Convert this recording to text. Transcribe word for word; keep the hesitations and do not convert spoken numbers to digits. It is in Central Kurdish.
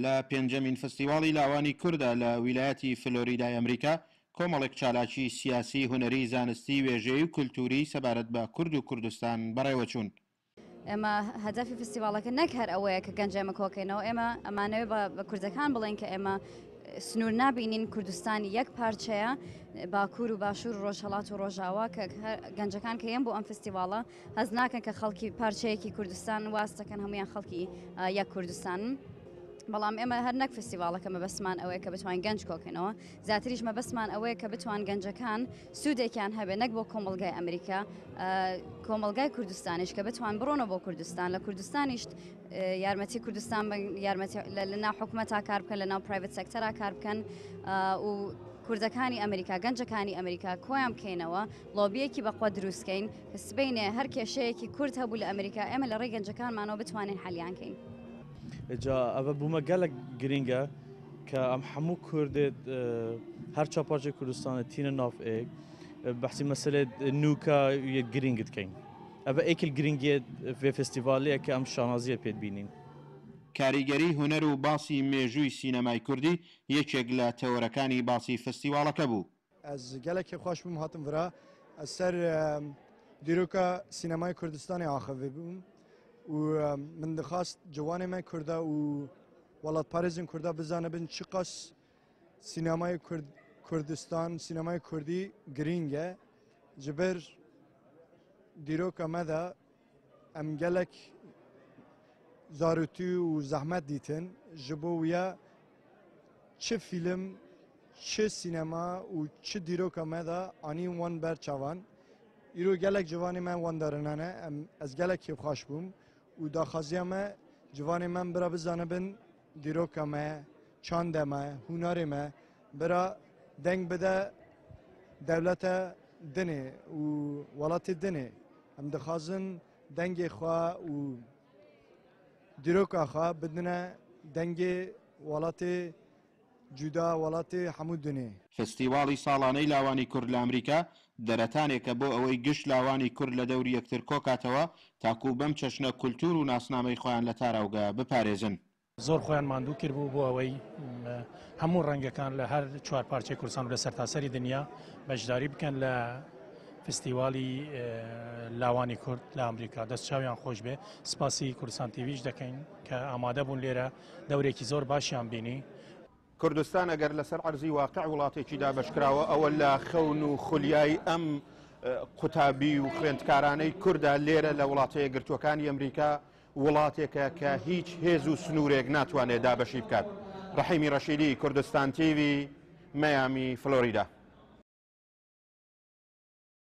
لە پێنجەمین فستیواڵی لاوانی کورددا لە ویلایەتی فلۆریدای ئەمریکا کۆمەڵێک چالاکی سیاسی، هونەری، زانستی، وێژەیی و کولتووری سەبارەت بە کورد و کوردستان بەڕێوەچوون. ئێمە هەدەفی فستیواڵەکە نەک هەر ئەوەیە کە گەنج ئێمە کۆکەینەوە، ئێمە ئەمانەوێ بە کوردەکان بڵێن کە ئێمە سنوور نابینین، کوردستان یەک پارچەیە، باکوور و باشوور و ڕۆژهەڵات و ڕۆژاوا، کە گەنجەکان کە یەن بۆ ئەم فستیواڵە هەز ناکەن کە خەڵکی پارچەیەکی کوردستان واز دەکەن، هەمویان خەڵکی یەک کوردستانن. بەڵام ئێمە هەر نەک فستیواڵەکە مەبەستمان ئەوەیە کە بتوانین گەنج کۆکەینەوە، زیاتریش مەبەستمان ئەوەیە کە بتوان گەنجەکان سوودێکیان هەبێ نەک بۆ کۆمەڵگای ئەمریکا، کۆمەڵگای کوردستانیش کە بتوان بڕۆنەوە بۆ کوردستان، لە کوردستانیش یارمەتی کوردستان یارمەتی لە ناو حکومەتا کار بکەن، لە ناو private sector ا کار بکەن و کوردەکانی ئەمریکا، گەنجەکانی ئەمریکا کۆیان بکەینەوە، لۆبیەکی بەقوە دروستکەین کە سبەینێ هەر کێشەیەکی کورد هەبوو لە ئەمریکا ئێمە لە ڕێی گەنجەکانمانەوە بتوانین حەلیان کەین. جا ئەوە بوومە گەلک گرنگە کە ئەم هەموو کوردێت هەر چوار پارچەی کوردستانە تینە ناف ئێک بەحسی مەسەلەی نوکە یەک گرنگت کەین. ئەوە ئێکل گرنگیت vê فستیڤالەیە کە ئەم شانازیە پێت بینین. کاریگەری هونەر و باسی مێژووی سینەمای کوردی یەکێک لە تەوەرەکانی باسی فستیواڵەکە بوو. ئەس gelekê xweş bûm hatim vira ez ser dîroka sînemaya Kurdistanê axivî bûm و min dixwast ciwanê me Kurda û welatparêzên Kurda bizanibin çi qas sînemayê Kurdistan, sînemayê Kurdî girîng e. Ji ber dîroka me de em gelek zarûtî û zehmet dîtin ji bo wiya çi fîlm, çi sînema û çi dîroka me de anîn wan ber çavan. Îro gelek ciwanê me wan darinane, em ez gelek kêfxweş bûm û daxwaziya me ciwanê me bira bizanibin dîroka me, çanda me, hunerê me bira deng bide dewleta dinê û welatê dinê. Em dixwazin dengê xwe û dîroka xwe bidine dengê welatê cuda, welatê hemû dinê. فستیواڵی ساڵانەی لاوانی کورد لە ئەمریکا دەرەتانێکە بۆ ئەوەی گشت لاوانی کورد لە دەوری یەکتر کۆکاتەوە تاکو بەم چەشنە کولتور و ناسنامەی خۆیان لە تاراوگە بپارێزن. زۆر خۆیان ماندوو کرد بوو بۆ ئەوەی هەموو ڕەنگەکان لە هەر چوار پارچەی کوردستان و لە سەرتاسەری دنیا بەشداری بکەن لە فستیوالی لاوانی کورد لە ئەمریکا. دەست چاویان خۆش بێ. سپاسی کوردستان تیڤیش دەکەین کە ئامادە بوون لێرە، دەورێکی زۆر باشیان بینی. کوردستان ئەگەر لەسەر عەرزی واقع وڵاتێکی دابەشکراوە، ئەوە لە خەون و خولیای ئەم قوتابی و خوێندکارانەی کووردا لێرە لە وڵاتە یەکگرتووەکانی ئەمریکا وڵاتێکە کە هیچ هێز و سنوورێک ناتوانێت دابەشی بکات. ڕەحیمی ڕەشیدی، کوردستان تیڤی، مەیامی، فلۆریدا.